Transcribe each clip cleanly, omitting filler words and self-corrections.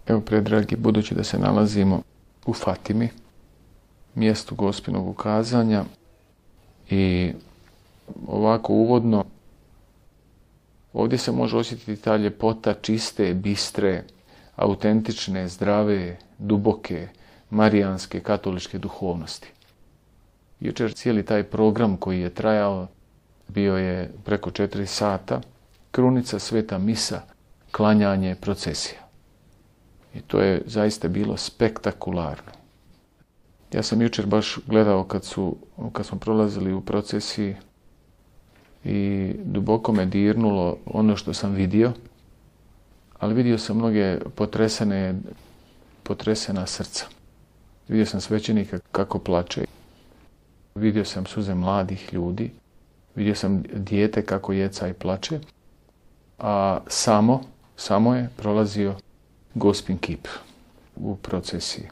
Evo, predragi, budući da se nalazimo u Fatimi, mjestu Gospinog ukazanja, i ovako uvodno, ovdje se može osjetiti ta ljepota čiste, bistre, autentične, zdrave, duboke, marijanske, katoličke duhovnosti. Jučer cijeli taj program koji je trajao bio je preko 4 sata, krunica, sveta misa, klanjanje, procesija. I to je zaista bilo spektakularno. Ja sam jučer baš gledao kad smo prolazili u procesiji i duboko me dirnulo ono što sam vidio, ali vidio sam mnoge potresena srca. Vidio sam svećenika kako plače, vidio sam suze mladih ljudi, vidio sam dijete kako jeca i plače, a samo je prolazio Gospin kip u procesiji.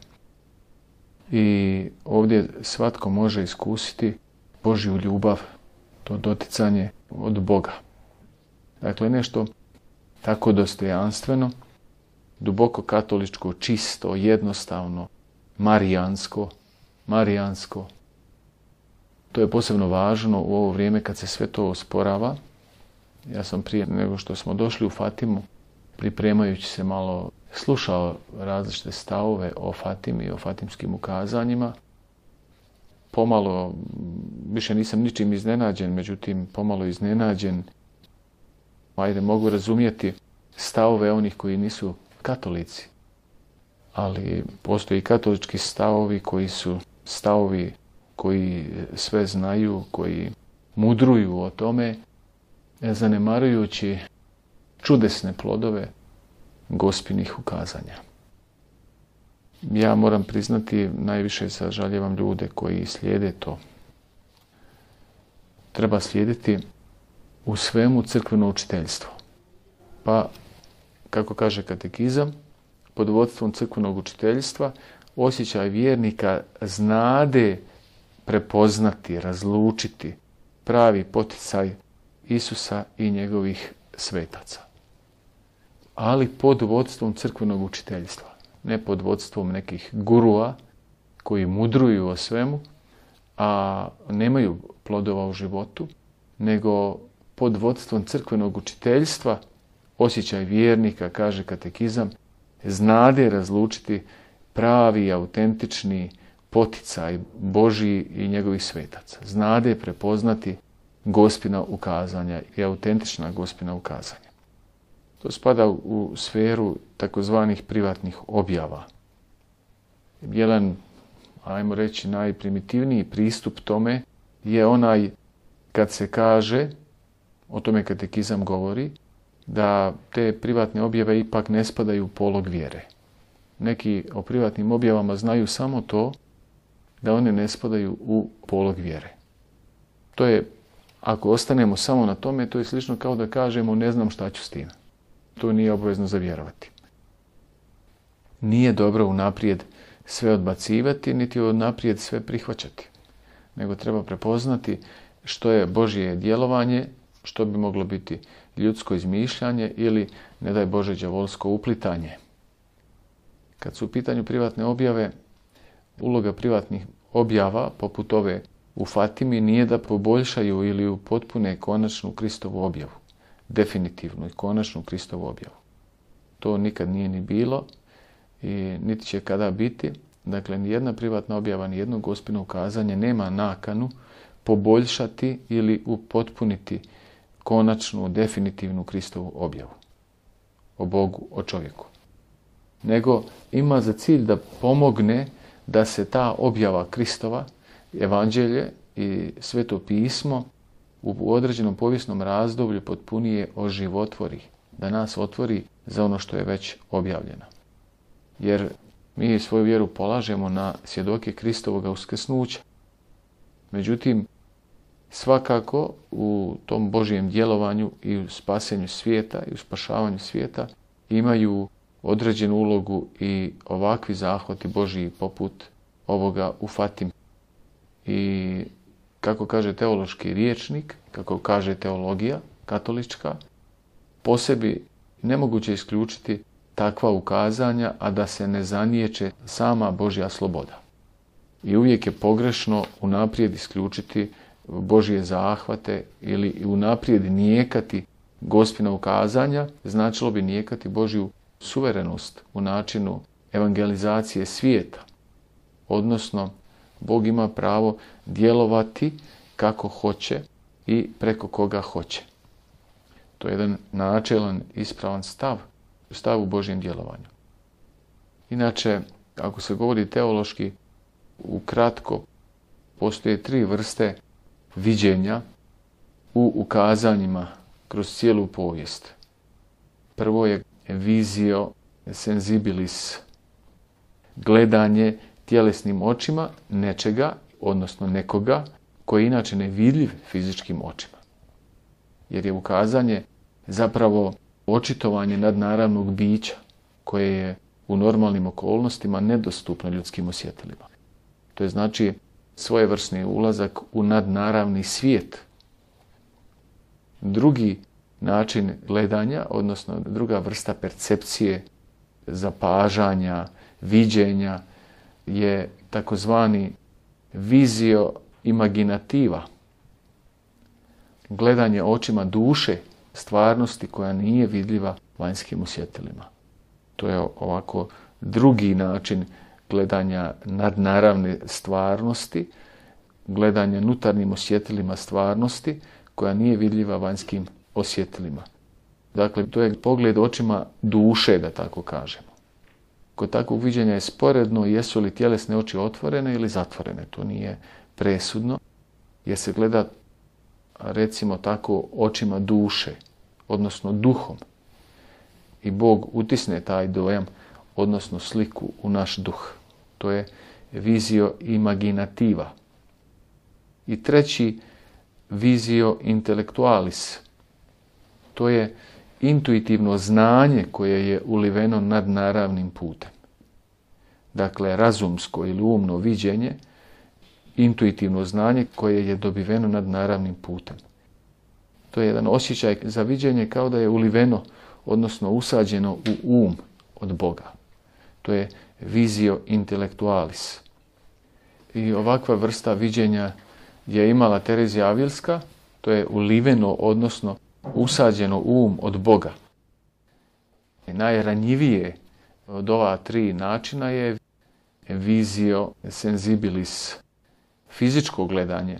I ovdje svatko može iskusiti Božju ljubav, to doticanje od Boga. Dakle, nešto tako dostojanstveno, duboko katoličko, čisto, jednostavno, marijansko. To je posebno važno u ovo vrijeme kad se sve to osporava. Ja sam prije nego što smo došli u Fatimu, pripremajući se malo, slušao različite stavove o Fatimi i o fatimskim ukazanjima. Pomalo, više nisam ničim iznenađen, međutim pomalo iznenađen. Mogu razumjeti stavove onih koji nisu katolici, ali postoji katolički stavovi koji su stavovi koji sve znaju, koji mudruju o tome, zanemarujući čudesne plodove Gospinih ukazanja. Ja moram priznati, najviše sažaljevam ljude koji slijede to. Treba slijediti u svemu crkveno učiteljstvo. Pa, kako kaže katekizam, pod vodstvom crkvenog učiteljstva osjećaj vjernika znade prepoznati, razlučiti pravi poticaj Isusa i njegovih svetaca. Ali pod vodstvom crkvenog učiteljstva, ne pod vodstvom nekih gurua koji mudruju o svemu, a nemaju plodova u životu, nego pod vodstvom crkvenog učiteljstva osjećaj vjernika, kaže katekizam, znade razlučiti pravi, autentični poticaj Božji i njegovih svetaca. Znade prepoznati Gospina ukazanja i autentična Gospina ukazanja. To spada u sferu takozvanih privatnih objava. Jedan, ajmo reći, najprimitivniji pristup tome je onaj kad se kaže, o tome katekizam govori, da te privatne objave ipak ne spadaju u polog vjere. Neki o privatnim objavama znaju samo to da one ne spadaju u polog vjere. To je, ako ostanemo samo na tome, to je slično kao da kažemo ne znam šta ću s tim. To nije obavezno za vjerovati. Nije dobro unaprijed sve odbacivati, niti unaprijed sve prihvaćati. Nego treba prepoznati što je Božje djelovanje, što bi moglo biti ljudsko izmišljanje ili, ne daj Bože, đavolsko uplitanje. Kad su u pitanju privatne objave, uloga privatnih objava, poput ove u Fatimi, nije da poboljšaju ili upotpune konačnu Kristovu objavu. Definitivnu i konačnu Kristovu objavu. To nikad nije ni bilo i niti će kada biti. Dakle, nijedna privatna objava, nijedno Gospino ukazanje nema nakanu poboljšati ili upotpuniti konačnu, definitivnu Kristovu objavu o Bogu, o čovjeku. Nego ima za cilj da pomogne da se ta objava Kristova, evanđelje i sveto pismo u određenom povijesnom razdoblju potpunije oživotvori, da nas otvori za ono što je već objavljeno. Jer mi svoju vjeru polažemo na svjedoke Kristovoga uskrsnuća. Međutim, svakako u tom Božjem djelovanju i u spasenju svijeta i u spašavanju svijeta imaju određenu ulogu i ovakvi zahvati Božji poput ovoga u Fatimi. I kako kaže teološki rječnik, kako kaže teologija katolička, po sebi nemoguće isključiti takva ukazanja, a da se ne zaniječe sama Božja sloboda. I uvijek je pogrešno unaprijed isključiti Božje zahvate ili unaprijed nijekati Gospina ukazanja, značilo bi nijekati Božju suverenost u načinu evangelizacije svijeta. Odnosno, Bog ima pravo djelovati kako hoće i preko koga hoće. To je jedan načelan, ispravan stav u Božjem djelovanju. Inače, ako se govori teološki, ukratko, postoje 3 vrste viđenja u ukazanjima kroz cijelu povijest. Prvo je visio sensibilis, gledanje tjelesnim očima nečega, odnosno nekoga, koji je inače nevidljiv fizičkim očima. Jer je ukazanje zapravo očitovanje nadnaravnog bića, koje je u normalnim okolnostima nedostupno ljudskim osjetilima. To je znači svojevrsni ulazak u nadnaravni svijet. Drugi način gledanja, odnosno druga vrsta percepcije, zapažanja, viđenja, je takozvani visio imaginativa. Gledanje očima duše, stvarnosti koja nije vidljiva vanjskim osjetilima. To je ovako drugi način gledanja nadnaravne stvarnosti, gledanja unutarnjim osjetilima stvarnosti koja nije vidljiva vanjskim osjetilima. Dakle, to je pogled očima duše, da tako kažemo. Kod takvog viđenja je sporedno jesu li tjelesne oči otvorene ili zatvorene. To nije presudno, jer se gleda, recimo tako, očima duše, odnosno duhom. I Bog utisne taj dojam, odnosno sliku u naš duh. To je visio imaginativa. I treći, visio intellectualis. To je intuitivno znanje koje je uliveno nadnaravnim putem. Dakle, razumsko ili umno viđenje, intuitivno znanje koje je dobiveno nadnaravnim putem. To je jedan osjećaj za viđenje kao da je uliveno, odnosno usađeno u um od Boga. To je visio intellectualis. I ovakva vrsta viđenja je imala Terezija Avilska, to je uliveno, odnosno usađeno um od Boga. I najranjivije od ova 3 načina je visio sensibilis, fizičko gledanje,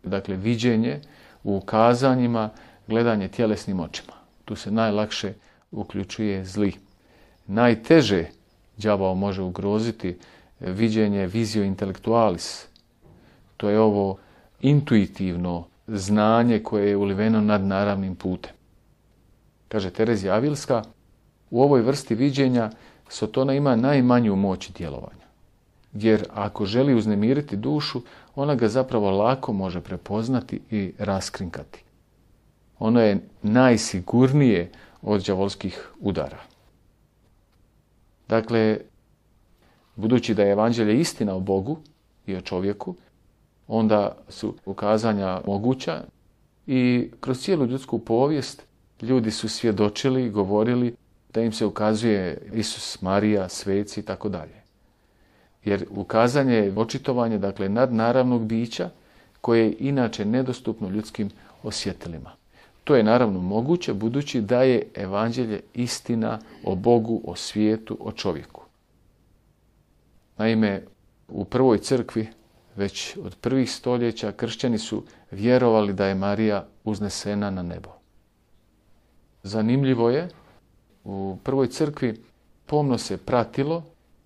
dakle viđenje u ukazanjima, gledanje tjelesnim očima. Tu se najlakše uključuje zli. Najteže đavao može ugroziti viđenje visio intellectualis. To je ovo intuitivno znanje koje je uliveno nadnaravnim putem. Kaže Terezija Avilska, u ovoj vrsti viđenja Sotona ima najmanju moć djelovanja. Jer ako želi uznemiriti dušu, ona ga zapravo lako može prepoznati i raskrinkati. Ono je najsigurnije od đavolskih udara. Dakle, budući da je evanđelje istina o Bogu i o čovjeku, onda su ukazanja moguća i kroz cijelu ljudsku povijest ljudi su svjedočili, govorili da im se ukazuje Isus, Marija, sveci i tako dalje. Jer ukazanje je očitovanje, dakle, nadnaravnog bića koje je inače nedostupno ljudskim osjetilima. To je naravno moguće budući da je evanđelje istina o Bogu, o svijetu, o čovjeku. Naime, u prvoj crkvi, već od prvih stoljeća, kršćani su vjerovali da je Marija uznesena na nebo. Zanimljivo je, u prvoj crkvi pomno se pratilo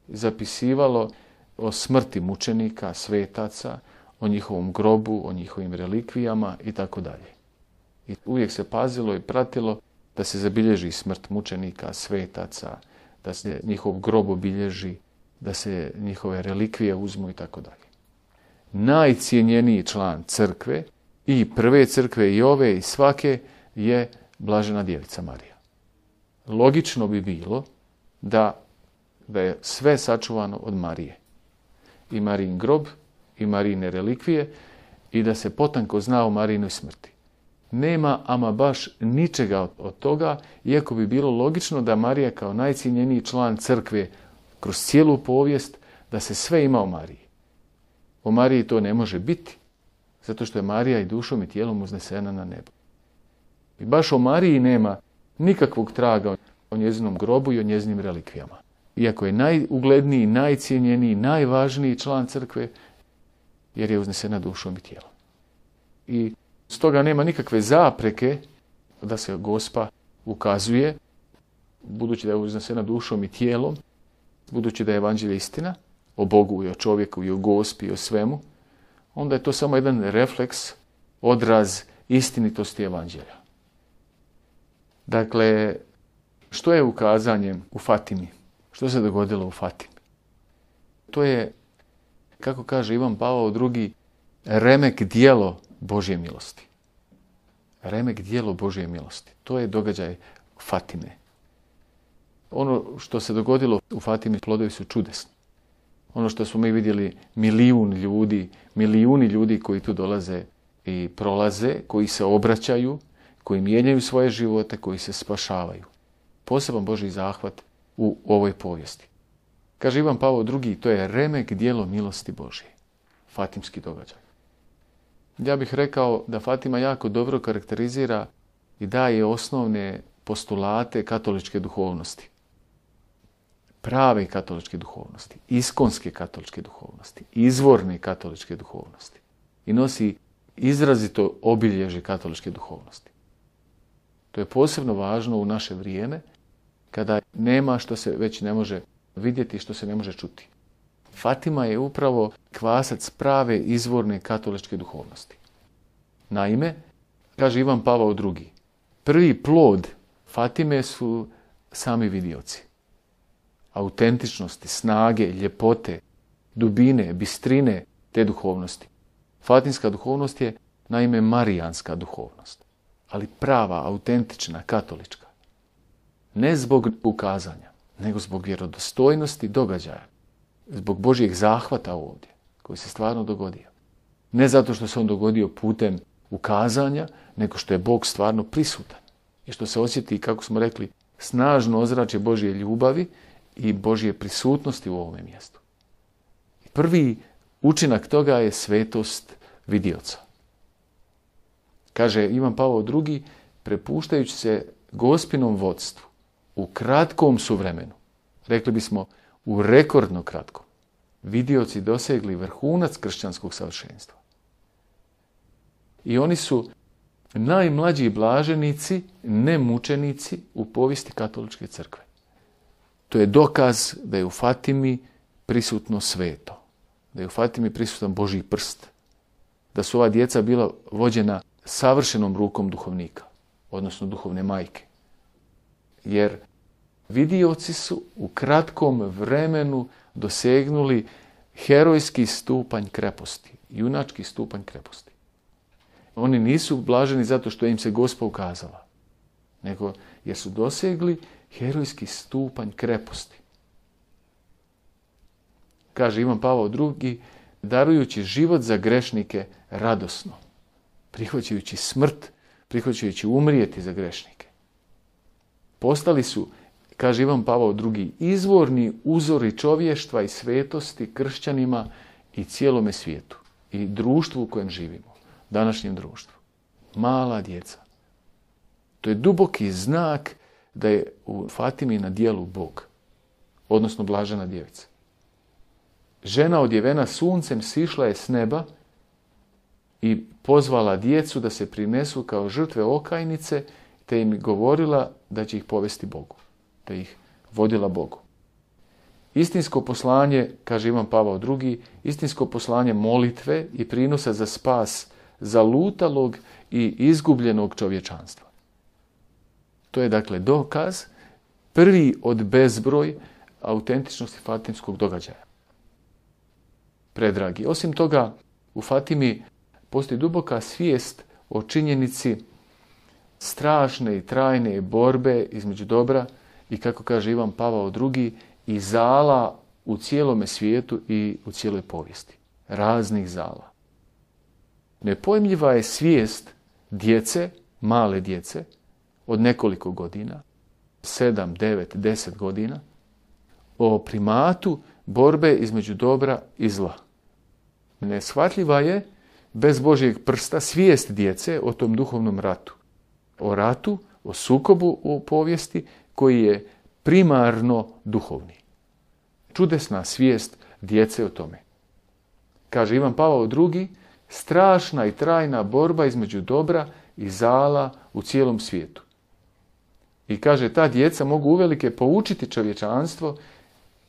i zapisivalo o smrti mučenika, svetaca, o njihovom grobu, o njihovim relikvijama itd. I uvijek se pazilo i pratilo da se zabilježi smrt mučenika, svetaca, da se njihov grob obilježi, da se njihove relikvije uzmu itd. Najcijenjeniji član crkve, i prve crkve i ove i svake, je Blažena Djevica Marija. Logično bi bilo da je sve sačuvano od Marije. I Marijin grob, i Marijine relikvije, i da se potanko zna o Marijinoj smrti. nema ama baš ničega od toga, iako bi bilo logično da Marija kao najcijenjeniji član crkve kroz cijelu povijest, da se sve ima o Mariji. O Mariji to ne može biti, zato što je Marija i dušom i tijelom uznesena na nebo. I baš o Mariji nema nikakvog traga o njezinom grobu i o njezinim relikvijama. Iako je najugledniji, najcijenjeniji, najvažniji član crkve, jer je uznesena dušom i tijelom. I stoga nema nikakve zapreke da se Gospa ukazuje, budući da je uznesena dušom i tijelom, budući da je evanđelje istina, o Bogu i o čovjeku i o Gospi i o svemu, onda je to samo jedan refleks, odraz istinitosti evanđelja. Dakle, što je ukazanje u Fatimi? Što se dogodilo u Fatimi? To je, kako kaže Ivan Pavao II, remek djelo Božje milosti. Remek djelo Božje milosti. To je događaj Fatime. Ono što se dogodilo u Fatimi, plodovi su čudesni. Ono što smo mi vidjeli, milijuni ljudi koji tu dolaze i prolaze, koji se obraćaju, koji mijenjaju svoje živote, koji se spašavaju. Poseban Božji zahvat u ovoj povijesti. Kaže Ivan Pavao II, to je remek djelo milosti Božje. Fatimski događaj. Ja bih rekao da Fatima jako dobro karakterizira i daje osnovne postulate katoličke duhovnosti. Prave katoličke duhovnosti, iskonske katoličke duhovnosti, izvorne katoličke duhovnosti. I nosi izrazito obilježje katoličke duhovnosti. To je posebno važno u naše vrijeme, kada nema što se već ne može vidjeti, što se ne može čuti. Fatima je upravo kvasac prave izvorne katoličke duhovnosti. Naime, kaže Ivan Pavao II, prvi plod Fatime su sami vidioci. Autentičnosti, snage, ljepote, dubine, bistrine te duhovnosti. Fatimska duhovnost je naime marijanska duhovnost, ali prava, autentična, katolička. Ne zbog ukazanja, nego zbog vjerodostojnosti događaja, zbog Božjeg zahvata ovdje, koji se stvarno dogodio. Ne zato što se on dogodio putem ukazanja, nego što je Bog stvarno prisutan i što se osjeti, kako smo rekli, snažno ozračje Božje ljubavi i Božje prisutnosti u ovome mjestu. Prvi učinak toga je svetost vidioca. Kaže Ivan Pavao II, prepuštajući se Gospinom vodstvu u kratkom su vremenu, rekli bismo u rekordno kratkom, vidioci dosegli vrhunac kršćanskog savršenstva. I oni su najmlađi blaženici, nemučenici u povijesti katoličke crkve. To je dokaz da je u Fatimi prisutno sveto, da je u Fatimi prisutan Božji prst, da su ova djeca bila vođena savršenom rukom duhovnika, odnosno duhovne majke. Jer vidioci su u kratkom vremenu dosegnuli herojski stupanj kreposti, junački stupanj kreposti. Oni nisu blaženi zato što im se Gospa ukazala, nego jer su dosegli herojski stupanj kreposti. Kaže Ivan Pavao II, darujući život za grešnike radosno, prihvaćajući smrt, prihvaćajući umrijeti za grešnike. Postali su, kaže Ivan Pavao II, izvorni uzori čovještva i svetosti kršćanima i cijelome svijetu i društvu u kojem živimo, današnjem društvu. Mala djeca. To je duboki znak da je u Fatimi na djelu Bog, odnosno blažena djevica. Žena odjevena suncem sišla je s neba i pozvala djecu da se prinesu kao žrtve okajnice, te im govorila da će ih povesti Bogu, te ih vodila Bogu. Istinsko poslanje, kaže Ivan Pavao II, istinsko poslanje molitve i prinosa za spas zalutalog i izgubljenog čovječanstva. To je dakle dokaz, prvi od bezbroj autentičnosti fatimskog događaja. Predragi. Osim toga, u Fatimi postoji duboka svijest o činjenici strašne i trajne borbe između dobra i, kako kaže Ivan Pavao II, i zala u cijelome svijetu i u cijeloj povijesti. Raznih zala. Nepojmljiva je svijest djece male djece od nekoliko godina, 7, 9, 10 godina, o primatu borbe između dobra i zla. Neshvatljiva je bez Božjeg prsta svijest djece o tom duhovnom ratu. O ratu, o sukobu u povijesti koji je primarno duhovni. Čudesna svijest djece o tome. Kaže Ivan Pavao II, strašna i trajna borba između dobra i zala u cijelom svijetu. I kaže, ta djeca mogu uvelike poučiti čovječanstvo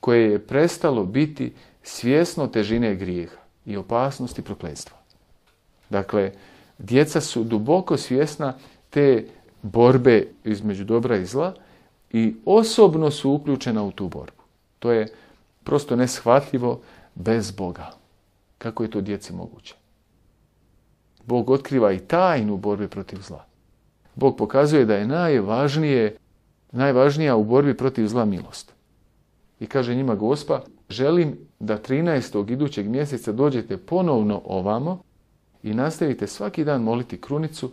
koje je prestalo biti svjesno težine grijeha i opasnosti prokletstva. Dakle, djeca su duboko svjesna te borbe između dobra i zla i osobno su uključena u tu borbu. To je prosto neshvatljivo bez Boga. Kako je to djeci moguće? Bog otkriva i tajnu borbe protiv zla. Bog pokazuje da je najvažnija u borbi protiv zla milost. I kaže njima Gospa, želim da 13. idućeg mjeseca dođete ponovno ovamo i nastavite svaki dan moliti krunicu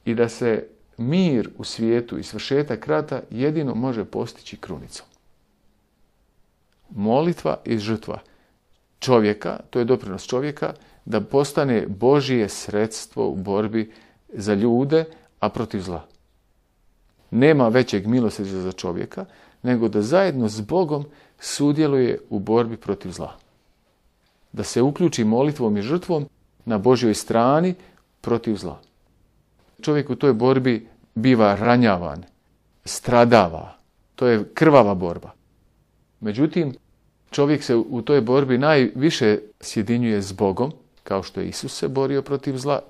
i da se mir u svijetu i svršetak rata jedino može postići krunicom. Molitva i žrtva čovjeka, to je doprinos čovjeka, da postane Božje sredstvo u borbi za ljude, a protiv zla. Nema većeg milosrđa za čovjeka, nego da zajedno s Bogom sudjeluje u borbi protiv zla. Da se uključi molitvom i žrtvom na Božjoj strani protiv zla. Čovjek u toj borbi biva ranjavan, stradava. To je krvava borba. Međutim, čovjek se u toj borbi najviše sjedinjuje s Bogom, kao što je Isus se borio protiv zla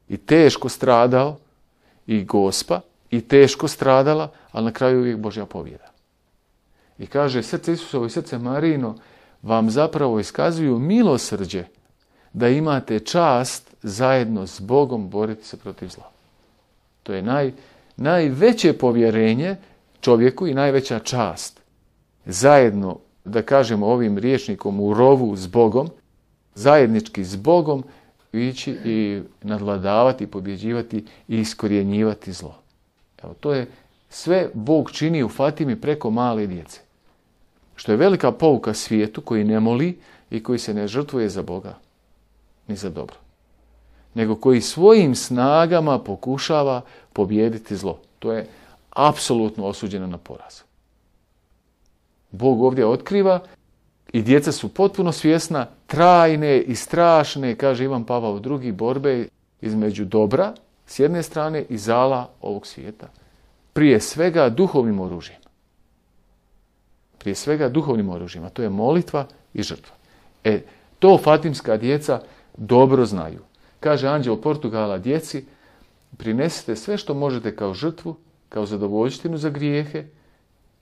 i teško stradao, i Gospa, i teško stradala, ali na kraju uvijek Božja pobjeda. I kaže, srce Isusovo i srce Marijino vam zapravo iskazuju milosrđe da imate čast zajedno s Bogom boriti se protiv zla. To je najveće povjerenje čovjeku i najveća čast. Zajedno, da kažemo ovim rječnikom, u rovu s Bogom, zajednički s Bogom ići i nadvladavati, pobjeđivati i iskorjenjivati zlo. Evo, to je sve Bog čini u Fatimi preko male djece. Što je velika pouka svijetu koji ne moli i koji se ne žrtvuje za Boga, ni za dobro. Nego koji svojim snagama pokušava pobijediti zlo. To je apsolutno osuđeno na poraz. Bog ovdje otkriva i djeca su potpuno svjesna trajne i strašne, kaže Ivan Pavao II, borbe između dobra s jedne strane i zala ovog svijeta. Prije svega duhovnim oružjem. Prije svega duhovnim oružjem, a to je molitva i žrtva. To fatimska djeca dobro znaju. Kaže anđeo Portugala djeci, prinesite sve što možete kao žrtvu, kao zadovoljštinu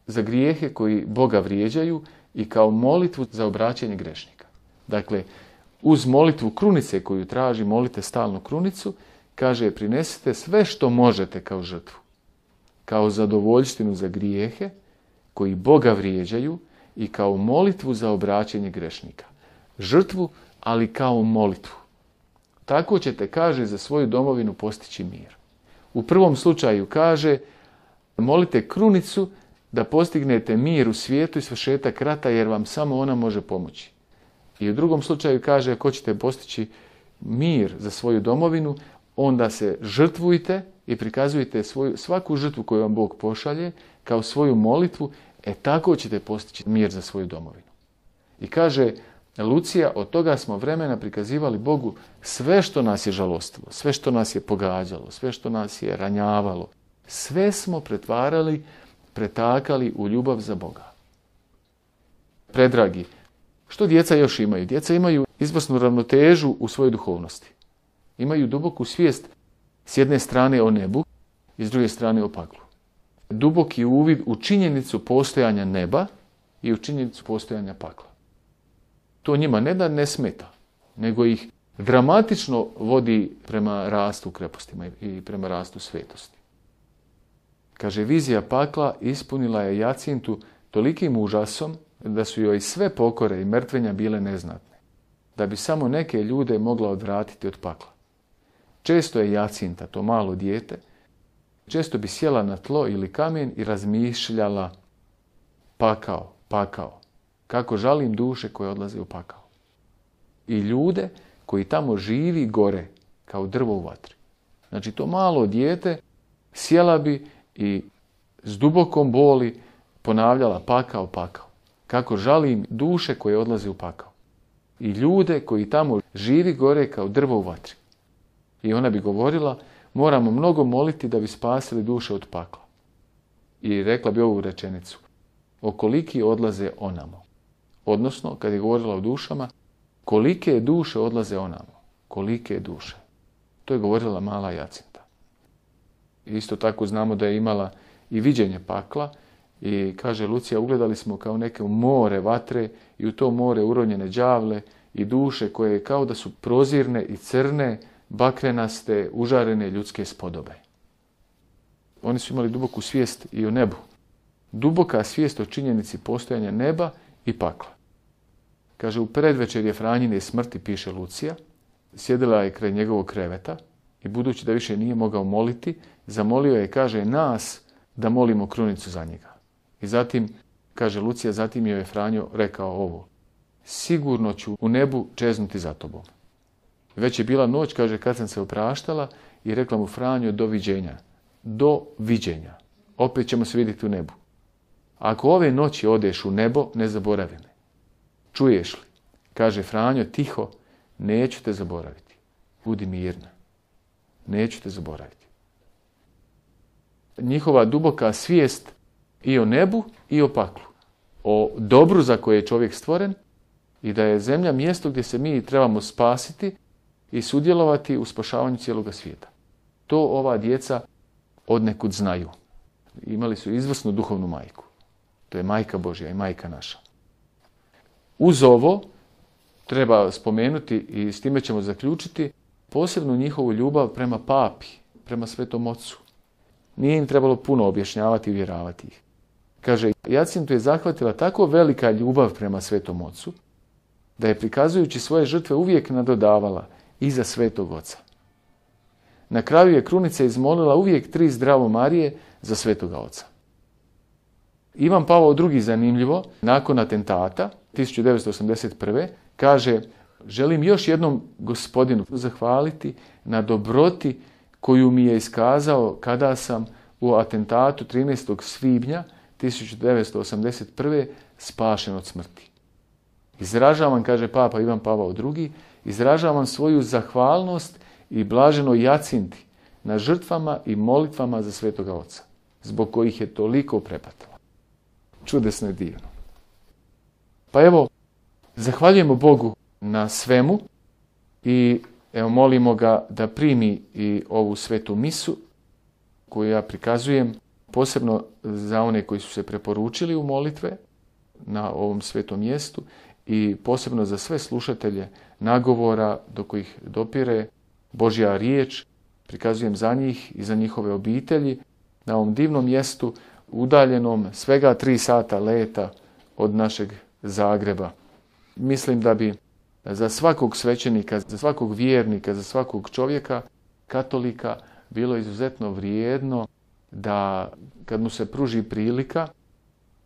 za grijehe koji Boga vrijeđaju i kao molitvu za obraćanje grešnika. Dakle, uz molitvu krunice koju traži, molite stalnu krunicu, kaže prinesite sve što možete kao žrtvu, kao zadovoljštinu za grijehe koji Boga vrijeđaju i kao molitvu za obraćanje grešnika. Žrtvu, ali kao molitvu. Tako ćete, kaže, za svoju domovinu postići mir. U prvom slučaju kaže, molite krunicu da postignete mir u svijetu i svršetak rata, jer vam samo ona može pomoći. I u drugom slučaju kaže, ako ćete postići mir za svoju domovinu, onda se žrtvujte i prikazujte svaku žrtvu koju vam Bog pošalje kao svoju molitvu, tako ćete postići mir za svoju domovinu. I kaže Lucija, od toga smo vremena prikazivali Bogu sve što nas je žalostilo, sve što nas je pogađalo, sve što nas je ranjavalo. Sve smo pretakali u ljubav za Boga. Predragi, što djeca još imaju? Djeca imaju izvrsnu ravnotežu u svojoj duhovnosti. Imaju duboku svijest s jedne strane o nebu i s druge strane o paklu. Duboki uvid u činjenicu postojanja neba i u činjenicu postojanja pakla. To njima ne da ne smeta, nego ih dramatično vodi prema rastu u krepostima i prema rastu svetosti. Kaže, vizija pakla ispunila je Jacintu tolikim užasom da su joj sve pokore i mrtvenja bile neznatne, da bi samo neke ljude mogla odvratiti od pakla. Često je Jacinta, to malo dijete, često bi sjela na tlo ili kamen i razmišljala pakao. Kako žalim duše koje odlaze u pakao. I ljude koji tamo živi gore, kao drvo u vatri. Znači to malo dijete sjela bi i s dubokom boli ponavljala pakao. Kako žalim duše koje odlaze u pakao. I ljude koji tamo živi gore kao drvo u vatri. I ona bi govorila, moramo mnogo moliti da bi spasili duše od pakla. I rekla bi ovu rečenicu, okoliki odlaze onamo. Odnosno, kad je govorila o dušama, kolike duše odlaze onamo. Kolike duše. To je govorila mala Jacinta. Isto tako znamo da je imala i viđenje pakla i kaže Lucija, ugledali smo kao neke more vatre i u to more uronjene đavle i duše koje kao da su prozirne i crne, bakrenaste, užarene ljudske spodobe. Oni su imali duboku svijest i o nebu. Duboka svijest o činjenici postojanja neba i pakla. Kaže, u predvečerje Franjine smrti, piše Lucija, sjedila je kraj njegovog kreveta i budući da više nije mogao moliti, zamolio je, kaže, nas da molimo krunicu za njega. I zatim, kaže Lucija, zatim joj je Franjo rekao ovo, sigurno ću u nebu čeznuti za tobom. Već je bila noć, kaže, kad sam se opraštala i rekla mu Franjo, doviđenja. Doviđenja. Opet ćemo se vidjeti u nebu. Ako ove noći odeš u nebo, ne zaboravi me. Čuješ li? Kaže Franjo, tiho, neću te zaboraviti. Budi mirna. Neću te zaboraviti. Njihova duboka svijest i o nebu i o paklu. O dobru za koje je čovjek stvoren i da je zemlja mjesto gdje se mi trebamo spasiti i sudjelovati u spašavanju cijeloga svijeta. To ova djeca odnekud znaju. Imali su izvrsnu duhovnu majku. To je majka Božja i majka naša. Uz ovo treba spomenuti i s time ćemo zaključiti posebnu njihovu ljubav prema papi, prema Svetom Ocu. Nije im trebalo puno objašnjavati i uvjeravati ih. Kaže, Jacintu je zahvatila tako velika ljubav prema Svetom Ocu, da je prikazujući svoje žrtve uvijek nadodavala iza Svetog Oca. Na kraju je krunica izmolila uvijek 3 zdravo Marije za Svetoga Oca. Ivan Pavao II, zanimljivo, nakon atentata 1981. kaže, želim još jednom Gospodinu zahvaliti na dobroti koju mi je iskazao kada sam u atentatu 13. svibnja 1981. spašen od smrti. Izražavam, kaže Papa Ivan Pavao II, izražavam svoju zahvalnost i blaženoj Jacinti na žrtvama i molitvama za Svetoga Oca, zbog kojih je toliko prepatila. Čudesno i divno. Pa evo, zahvaljujemo Bogu na svemu i evo molimo ga da primi i ovu svetu misu koju ja prikazujem posebno za one koji su se preporučili u molitve na ovom svetom mjestu i posebno za sve slušatelje nagovora do kojih dopire Božja riječ. Prikazujem za njih i za njihove obitelji na ovom divnom mjestu udaljenom svega 3 sata leta od našeg Zagreba. Mislim da bi za svakog svećenika, za svakog vjernika, za svakog čovjeka, katolika, bilo izuzetno vrijedno da kad mu se pruži prilika,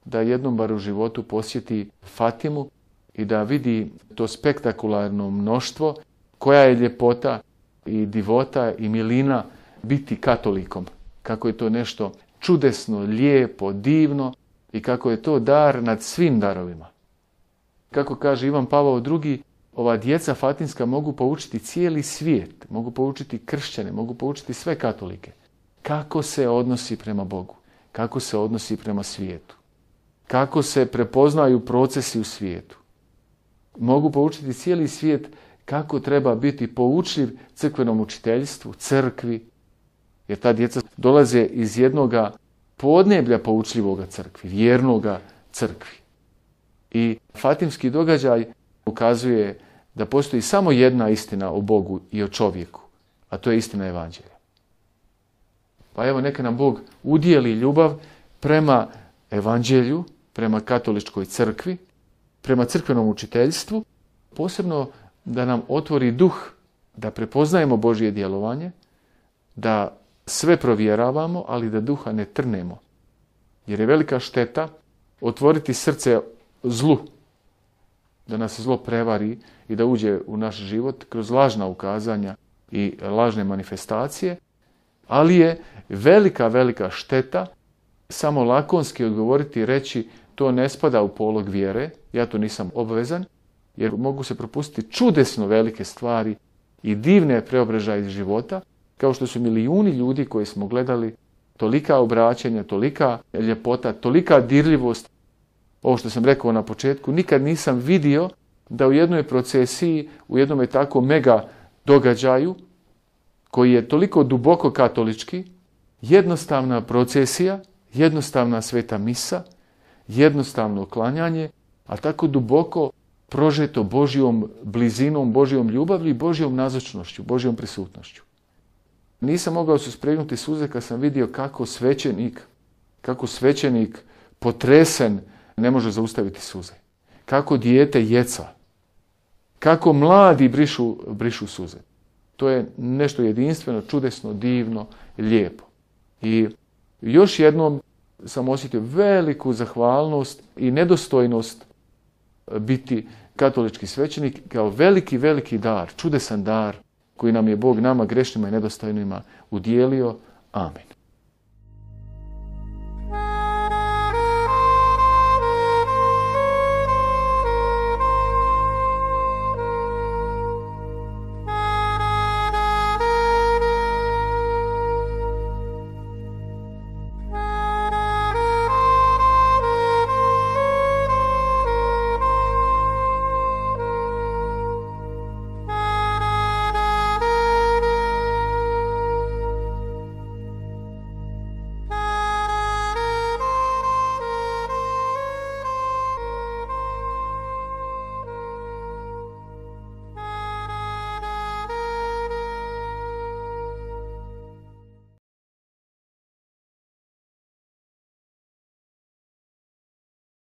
da jednom bar u životu posjeti Fatimu i da vidi to spektakularno mnoštvo, koja je ljepota i divota i milina biti katolikom. Kako je to nešto čudesno, lijepo, divno i kako je to dar nad svim darovima. Kako kaže Ivan Pavao II, ova djeca fatinska mogu poučiti cijeli svijet, mogu poučiti kršćane, mogu poučiti sve katolike. Kako se odnosi prema Bogu, kako se odnosi prema svijetu, kako se prepoznaju procesi u svijetu. Mogu poučiti cijeli svijet kako treba biti poučljiv crkvenom učiteljstvu, crkvi, jer ta djeca dolaze iz jednoga podneblja poučljivoga crkvi, vjernoga crkvi. I fatimski događaj ukazuje da postoji samo jedna istina o Bogu i o čovjeku, a to je istina Evanđelja. Pa evo neka nam Bog udijeli ljubav prema Evanđelju, prema katoličkoj crkvi, prema crkvenom učiteljstvu, posebno da nam otvori duh da prepoznajemo Božje djelovanje, da sve provjeravamo, ali da duha ne trnemo. Jer je velika šteta otvoriti srce zlu, da nas zlo prevari i da uđe u naš život kroz lažna ukazanja i lažne manifestacije, ali je velika šteta samo lakonski odgovoriti i reći to ne spada u polog vjere, ja to nisam obvezan, jer mogu se propustiti čudesno velike stvari i divne preobražaje iz života, kao što su milijuni ljudi koji smo gledali, tolika obraćanja, tolika ljepota, tolika dirljivost. Ovo što sam rekao na početku, nikad nisam vidio da u jednoj procesiji, u jednom tako mega događaju, koji je toliko duboko katolički, jednostavna procesija, jednostavna sveta misa, jednostavno klanjanje, a tako duboko prožeto Božjom blizinom, Božjom ljubavlju i Božjom nazočnošću, Božjom prisutnošću. Nisam mogao suspregnuti suze kad sam vidio kako svećenik potresen ne može zaustaviti suze. Kako dijete jeca. Kako mladi brišu suze. To je nešto jedinstveno, čudesno, divno, lijepo. I još jednom sam osjetio veliku zahvalnost i nedostojnost biti katolički svećenik kao veliki dar, čudesan dar koji nam je Bog nama grešnima i nedostojnima udijelio. Amen.